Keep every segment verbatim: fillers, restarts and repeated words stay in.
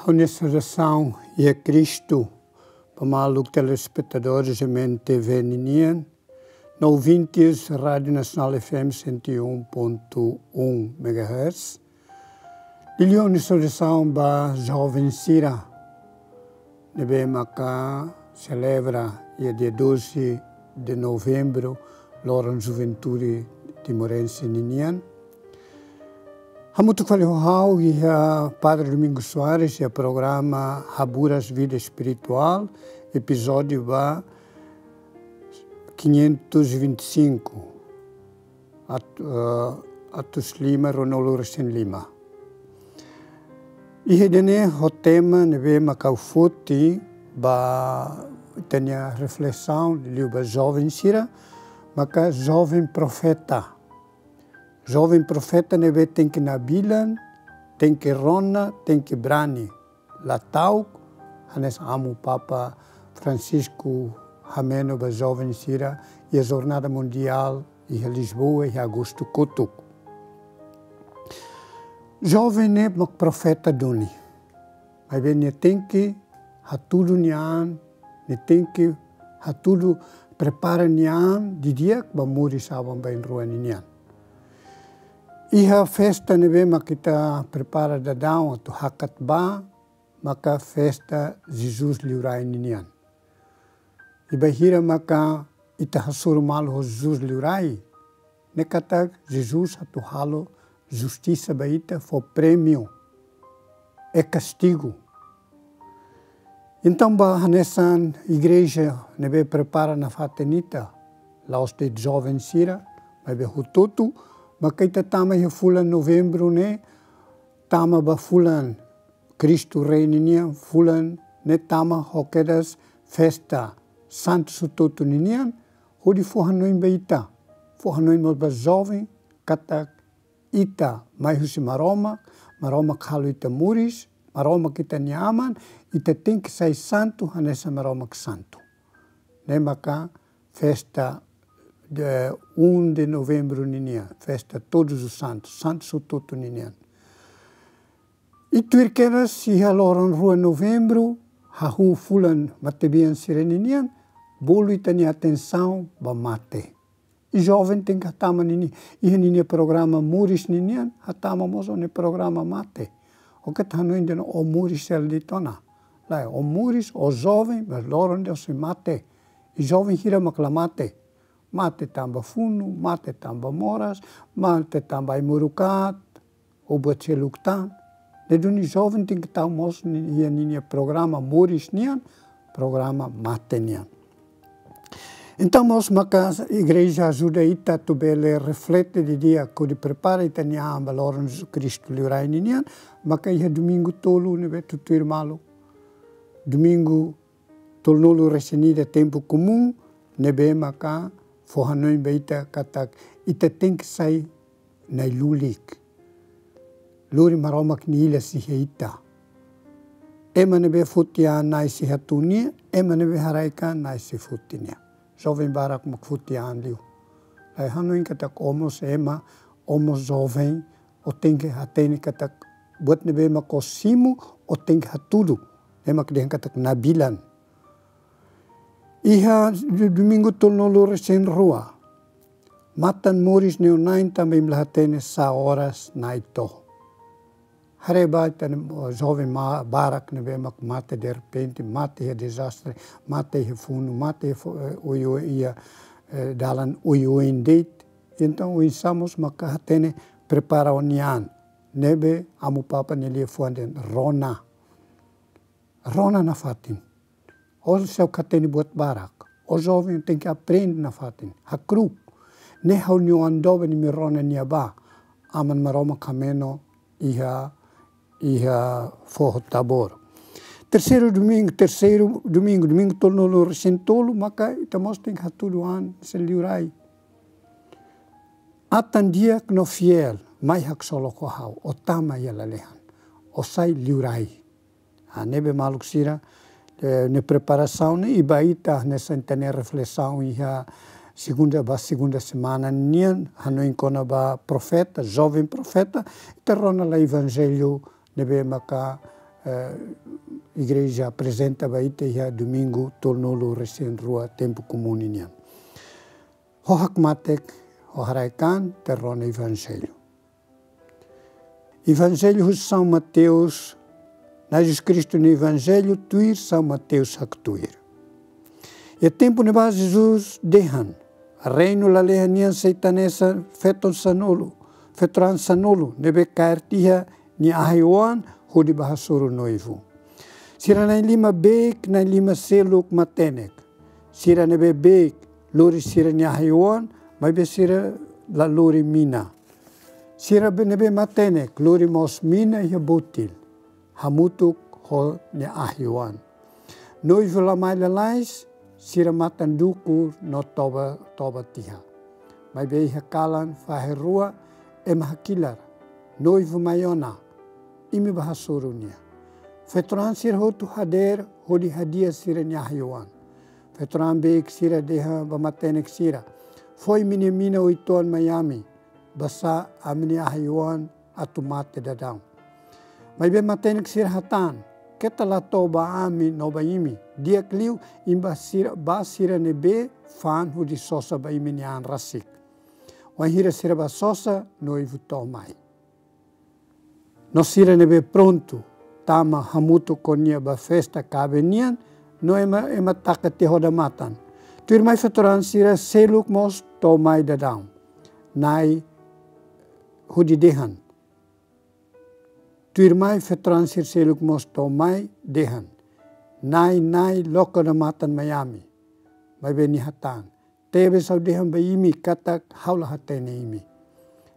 Ha'u-nia saudasaun iha Kristu ba maluk telespetadores M N T V ninian, no ouvintes Rádio Nacional F M cento e um ponto um megahertz. Liuliu ha'u-nia saudasaun ba joven sira ne'ebé maka selebra iha dia doze de novembro, loron juventude timorense ninian. Hamutuk fali ho ha'u iha Padre Domingos Soares iha programa Haburas Vida Espiritual, epizódiu ba quinhentos e vinte e cinco, at-, eh, atus lima ruanulu resin lima. Iha ida-ne'e ho tema ne'ebé maka ha'u foti ba ita-nia reflesaun liu ba joven sira, maka joven profeta. Joven profeta ne'ebé tenke nabilan, tenke rona, tenke brani. La ta'uk, hanesan Amu Papa Francisco hameno ba joven sira iha Jornada Mundial iha Lisboa iha agostu kotuk. Joven ne'e mak profeta duni. Maibé nia tenke hatudu nia an, nia tenke hatudu prepara nia an didi'ak ba moris aban-bainrua ninian. Iha festa ne'ebé mak ita prepara daudaun atu hakat ba, maka festa Jesus Liurai ninian. I bainhira maka ita hasoru malu ho Jesus Liurai, ne'e katak Jesus atu halo justisa ba ita, fó prémiu, e kastigu. Entaun ba hanesan igreja ne'ebé prepara nafatin ita, la'ós de'it joven sira, maibé hotu-hotu, maka ita tama iha fulan novembru ne'e, tama ba fulan Kristu Rei ninian, fulan ne'e tama ho kedas festa santu hotu-hotu ninian, hodi fó hanoin ba ita, fó hanoin mós ba joven, katak ita mai husi Maromak, Maromak halo ita moris, Maromak ita-nia Aman, ita tenke sai santu hanesan Maromak santu. Ne'e maka festa de um de novembro ninian, festa Todos os Santos, Santu hotu-hotu ninian. I tuir kedas iha loron rua novembru, hahú fulan matebian sira ninian, bolu ita-nia atensaun ba mate. I joven tenke hatama ninia, iha ninia programa moris ninian, hatama mós ó-nia programa mate. Ó keta hanoin dehan ó moris hela de'it ona. Lae, ó moris, ó joven, mas loron ida ó sei mate. I joven hira mak la mate. Mate tanba funu, mate tanba moras, mate tanba ai-moruk aat, ou buat seluk tan. Ne'e duni joven tenke tau mós ni-, iha ninia programa moris nian, programa mate nian. Entaun mós maka igreja ajuda ita atu bele reflete didi'ak hodi prepara ita-nia an ba loron Kristu Liurai ninian, maka iha domingu tolu ne'ebé tutuir malu. Domingu tolunulu resin ida tempu komún, ne'ebé maka fó hanoin ba ita katak ita tenke sai nai-lulik. Lori Maromak nia ilas iha ita. Ema ne'ebé foti an Na'i sei hatún nia, ema ne'ebé haraik an Na'i sei foti nia. Joven barak mak foti an liu. Lae, hanoin katak ó mós ema, ó mós joven, ó tenke hatene katak buat ne'ebé mak ó simu, ó tenke hatudu. Ne'e mak dehan katak nabilan. Iha do-, domingu tolunulu resin rua. Matan moris ne'e ó na'in tanba imi la hatene sá oras Na'i to'o. Haree ba ita-nia joven ma-, barak ne'ebé mak mate derrepente, mate iha dezastre, mate iha funu, mate iha fo-, eh, oioin iha, eh, dalan oioin de'it. Entaun oinsá mós maka hatene prepara ó-nia an. Ne'ebé Amu Papa nia liafuan dehan rona. Rona nafatin. Ó seidauk hatene buat barak. Ó joven tenke aprende nafatin. Hakru'uk. Ne'e ha'u-nia oan doben imi rona nia bá. Aman Maromak hameno iha, iha foho Tabor. Terseiru domingu, terseiru domingu, domingu tolunulu resin tolu, maka ita mós tenke hatudu an hanesan Liurai. Atan di'ak no fiél, mai haksolok ho ha'u, ó tama iha lalehan. Ó sai Liurai. Ah, ne'ebé maluk sira, eh, ne'e preparasaun ne'e, i ba ita hanesan ita-nia reflesaun iha segunda ba segunda semana nian, hanoin kona-ba profeta, joven profeta, ita rona lai Evanjellu ne'ebé maka, eh, igreja aprezenta ba ita iha domingu tolunulu-resin-rua tempu komún ninian. Ho hakmatek, ho haraik-an, ita rona Evanjellu. Evanjellu husi São Mateus, Na'i Jesus Kristu nia Evanjellu tuir São Mateus haktuir. Iha tempu ne'ebá Jesus dehan: Reinu lalehan nian sei hanesan feto sanulu, feto-raan sanulu, ne'ebé kaer tiha nia ahi-oan hodi bá hasoru noivu. Sira na'in-lima beik, na'in-lima seluk matenek. Sira ne'ebé beik lori sira-nia ahi-oan, maibé sira la lori mina. Sira be-, ne'ebé matenek lori mós mina iha botil, hamutuk ho nia ahi-oan. Noivu la mai lalais, sira matan dukur no toba, toba tiha. Maibé iha kalan fahe rua, ema hakilar: Noivu mai ona, imi bá hasoru nia. Feto-raan sira hotu hadeer hodi hadi'a sira-nia ahi-oan. Feto-raan beik sira dehan ba matenek sira: Fó imi-nia mina uitoan mai ami, basá ami-nia ahi-oan atu mate daudaun. Maibé matenek sira hatán: Keta la to'o ba ami no ba imi. Di'ak liu, imi bá sira, bá sira ne'ebé fa'an hodi sosa ba imi-nia an rasik. Wainhira sira bá sosa, noivu to'o mai. No sira ne'ebé prontu tama hamutuk ho nia ba festa kaben nian, no ema, ema taka tiha odamatan. Tuirmai feto-raan sira seluk mós to'o mai daudaun. Na'i hodi dehan. Tuirmai feto-raan sira seluk mós to'o mai dehan: Na'i, Na'i, loke odamatan mai ami. Maibé nia hatán: Tebes ha'u dehan ba imi katak ha'u la hatene imi.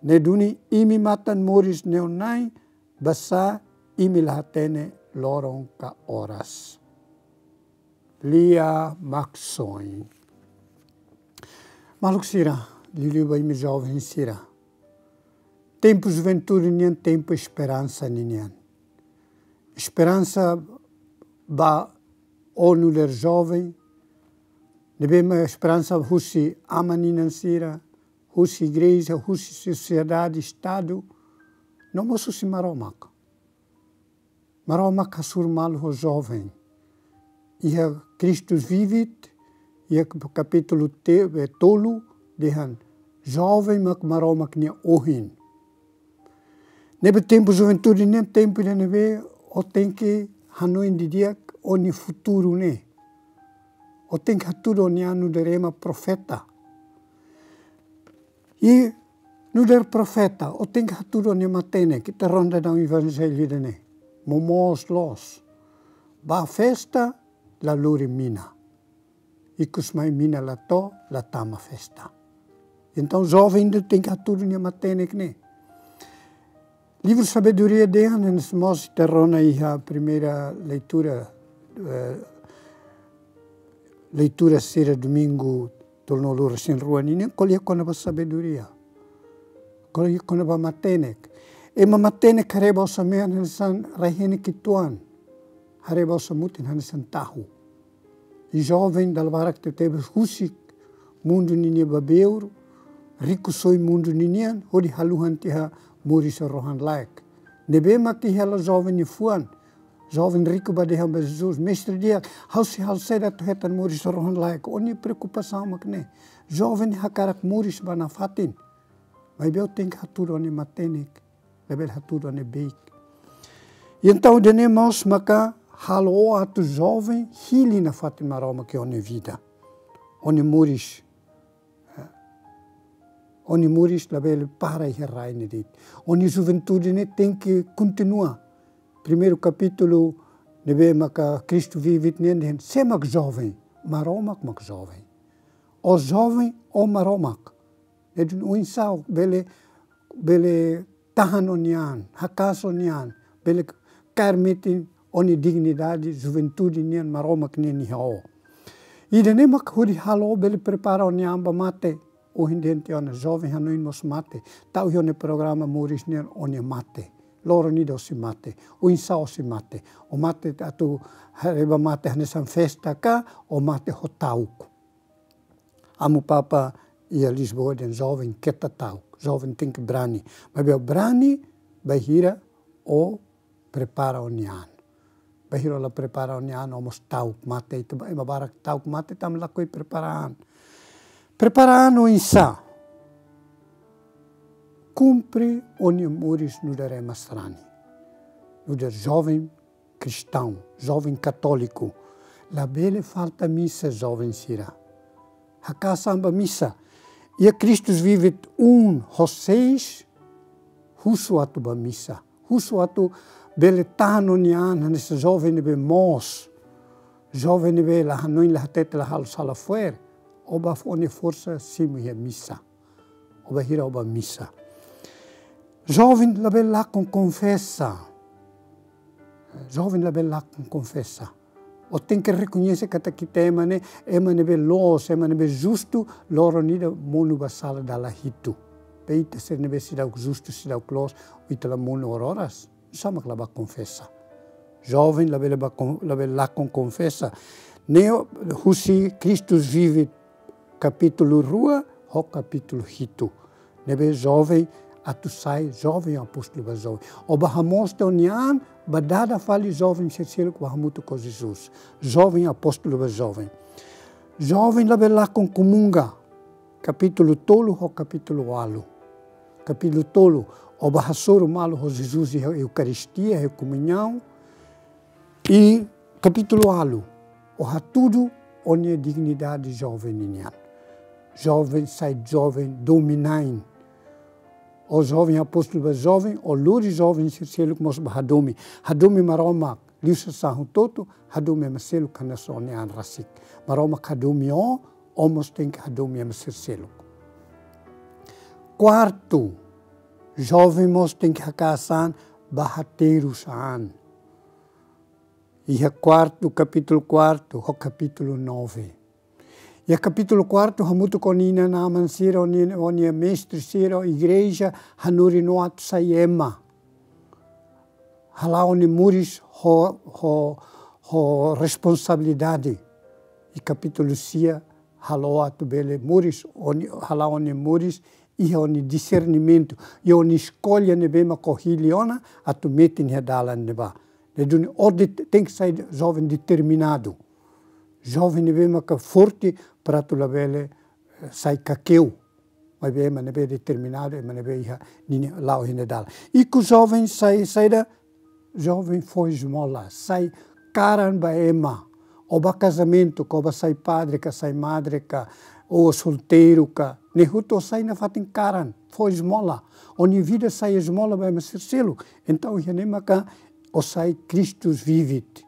Ne'e duni imi matan moris neon-na'in, basá imi la hatene loron ka oras. Lia Maksoin. Maluk sira, liuliu ba imi joven sira. Tempu juventude nian, tempu esperansa ninian. Esperansa ba ó nu'udar joven, ne'ebé mak esperansa husi aman-inan sira, husi igreja, husi sosiedade, estadu, no mós husi Maromak. Maromak hasoru malu ho joven. Iha Christus Vivit, iha kapítulu te-, eh, tolu, dehan joven mak Maromak nia ohin. Ne'ebé tempu juventude ne'e tempu ida ne'ebé ó tenke hanoin didi'ak ó-nia futuru ne'e. Ó tenke hatudu ó-nia an nu'udar ema profeta. I nu'udar profeta, ó tenke hatudu ó-nia matenek, ita rona daudaun evanjellu ida-ne'e. Momoos loos. Bá festa, la lori mina. Ikus mai mina la to'o, la tama festa. Entaun, joven ida tenke hatudu nia matenek ne'e. Livru Sabedoria dehan, hanesan mós ita rona iha primeira leitura, eh, leitura sira domingu tolunulu-resin-rua ninian, ko'alia kona-ba sabedoria. Ko'alia kona-ba matenek. Ema matenek haree ba osan-mean hanesan rai-henek uitoan. Haree ba osan-mutin hanesan tahu. I joven dala barak tebetebes husik mundu ninian babeur, riku soin mundu ninian, hodi haluhan tiha moris rohan-laek. Ne'ebé mak iha hela joven nia fuan. Joven riku bá dehan ba Jesus: Mestre di'ak, ha'u sei halo saida atu hetan moris rohan-laek? Ó-nia preokupasaun mak ne'e. Joven hakarak moris ba nafatin. Maibé ó tenke hatudu ó-nia matenek, labele hatudu ó-nia beik. I entaun ida-ne'e mós maka halo ó atu joven hili nafatin Maromak iha ó-nia vida. Ó-nia moris. Ó-nia moris labele para iha rai ne'e de'it. Ó-nia juventude ne'e tenke kontinua. Primeiru kapítulu ne'ebé maka Christus Vivit nian dehan: Sé mak joven? Maromak mak joven. Ó joven, ó Maromak. Ne'e duni oinsá ó bele, bele tahan ó-nia an, haka'as ó-nia an, bele kaer metin ó-nia dignidade juventude nian, Maromak nian iha ó. Ida-ne'e mak hodi halo ó bele prepara ó-nia an ba mate. Ohin dehan tiha ona, joven hanoin mós mate. Tau iha ó-nia programa moris nian ó-nia mate. Loron ida ó sei mate. Oinsá ó sei mate? Ó mate atu haree ba mate hanesan festa ka, ó mate ho ta'uk? Amu Papa iha Lisboa dehan joven keta ta'uk, joven tenke brani. Maibé ó brani bainhira ó prepara ó-nia an. Bainhira la prepara ó-nia an, ó mós ta'uk mate. Ita ba-, ema barak ta'uk mate tanba lakohi prepara an. Prepara an oinsá? Kumpre ó-nia moris nu'udar ema sarani. Nu'udar joven kristaun, joven katóliku. Labele falta misa, joven sira. Hakaas an ba misa. Iha Christus Vivit um ho seis, husu atu ba misa. Husu atu bele tahan ó-nia an hanesan joven ne'ebé moos. Joven ne'ebé la hanoin, la hatete, la halo sala fo'er. Ó ba fó ó-nia forsa simu iha misa. Ó bainhira ó ba misa. Joven labele lakon konfesa. Joven labele lakon konfesa. Ó tenke rekoñese katak ita ema ne'e, ema ne'ebé loos, ema ne'ebé justu, loron ida monu ba sala dala hitu. Be ita sira ne'ebé seidauk justu, seidauk loos, ita la monu oras-oras. Oinsá mak la ba konfesa? Joven labele ba kon-, labele lakon konfesa. Ne'e husi Christus Vivit kapítulu rua ho kapítulu hitu. Ne'ebé joven atu sai joven apóstolu ba joven. Ó ba hamoos tiha ó-nia an, ba dada fali joven sira seluk ba hamutuk ho Jesus. Joven apóstolu ba joven. Joven labele lakon komunga. Kapítulu tolu ho kapítulu ualu. Kapítulu tolu, ó ba hasoru malu ho Jesus iha Eukaristia, iha komuñaun. I kapítulu ualu, ó hatudu ó-nia dignidade joven ninian. Joven sai joven domin-na'in. Ó joven apóstolu ba joven, ó lori joven sira seluk mós ba hadomi. Hadomi Maromak liu sasán hotu-hotu, hadomi ema seluk hanesan ó-nia an rasik. Maromak hadomi ó, ó mós tenke hadomi ema sira seluk. Kuartu, joven mós tenke hakaas an ba haterus an. Iha kuartu, kapítulu kuartu ho kapítulu nove. Iha kapítulu kuartu, hamutuk ho ó-nia inan-aman sira, ó-nia, ó-nia mestre sira, igreja, hanorin ó atu sai ema. Hala'o ó-nia moris ho, ho, ho responsabilidade. I kapítulu sia, hala'o ó atu bele moris, ó-nia, hala'o ó-nia moris iha ó-nia disernimentu, iha ó-nia eskolla ne'ebé mak ó hili ona atu metin iha dalan ne'ebá. Ne'e duni ó de-, tenke sai joven determinadu. Joven ne'ebé maka forte para atu labele, eh, sai kakeu. Maibé ema ne'ebé determinadu, ema ne'ebé iha ninia, la'o iha nia dalan. Ikus joven sai, saida? Joven fó esmola, sai karan ba ema. Ó ba kazamentu, ka ó ba sai padre, ka sai madre, ka ó solteiru, ka ne'e hotu ó sai nafatin karan, fó esmola. Ó-nia vida sai esmola ba ema sira seluk. Entaun, iha ne'e maka ó sai Christus Vivit.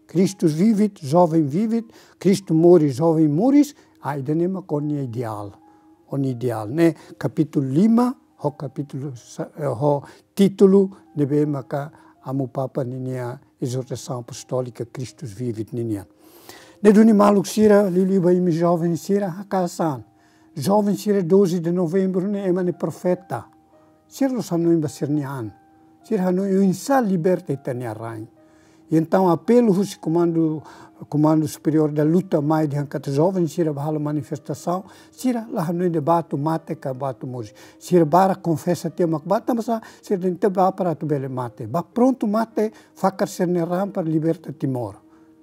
Christus Vivit, joven Vivit, Kristu moris, joven moris, ah, ida-ne'e mak ó-nia ideál. Ó-nia ideál, ne'e kapítulu lima, ho kapítulu sa-, eh, ho títulu ne'ebé maka Amu Papa ninia ezortasaun apostólika Christus Vivit ninian. Ne'e duni maluk sira, liuliu ba imi joven sira, hakaas an. Joven sira doze de novembro ne'e ema ne'e profeta. Sira la'ós hanoin ba sira-nia an. Sira hanoin oinsá liberta ita-nia rain. I entaun apelu husi komandu, Komandu Superiór da Luta mai dehan katak joven sira ba halo manifestasaun, sira la hanoin de'it ba atu mate ka ba atu moris. Sira barak konfesa tiha mak ba, tanbasá? Sira dehan ita ba para atu bele mate. Ba prontu mate, fakar sira-nia ran para liberta Timor.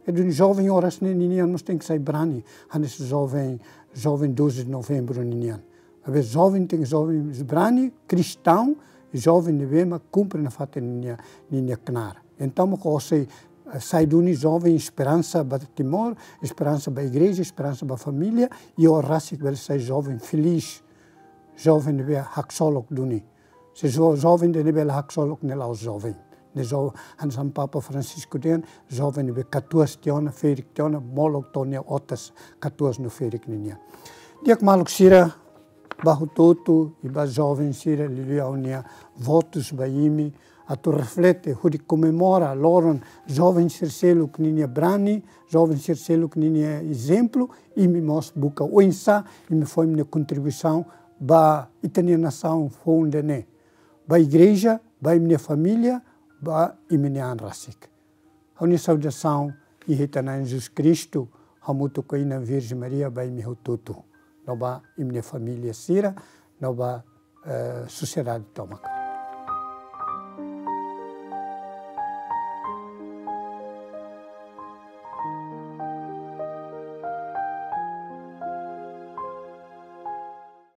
Ne'e duni joven oras ne'e ninian mós tenke sai brani, hanesan joven, joven doze de novembro ninian. Maibé joven tenke joven brani, kristaun, joven ne'ebé mak kumpre nafatin ninia, ninia knaar. Entaun, mak ó sei, eh, sai duni joven esperansa ba Timor, esperansa ba igreja, esperansa ba família, i ó rasik bele sai joven felís, joven ne'ebé haksolok duni. Se jo-, joven ida ne'ebé la haksolok ne'e la'ós joven. Ne'e jo-, hanesan Papa Francisco dehan, joven ne'ebé katuas tiha ona, ferik tiha ona, molok to'o nia otas, katuas no ferik ninian. Di'ak maluk sira, ba hotu-hotu, i ba joven sira, liuliu ha'u-nia votus ba imi, atu reflete, hodi komemora loron joven sira seluk ninia brani, joven sira seluk ninia ezemplu, imi mós buka oinsá imi fó imi-nia kontribuisaun ba ita-nia nasaun foun ida-ne'e. Ba igreja, ba imi-nia família, ba imi-nia an rasik. Ha'u-nia saudasaun iha ita-nia Na'i Jesus Kristu, hamutuk ho Inan Virjen Maria, ba imi hotu-hotu. No ba imi-nia família sira, no ba, eh, sosiedade tomak.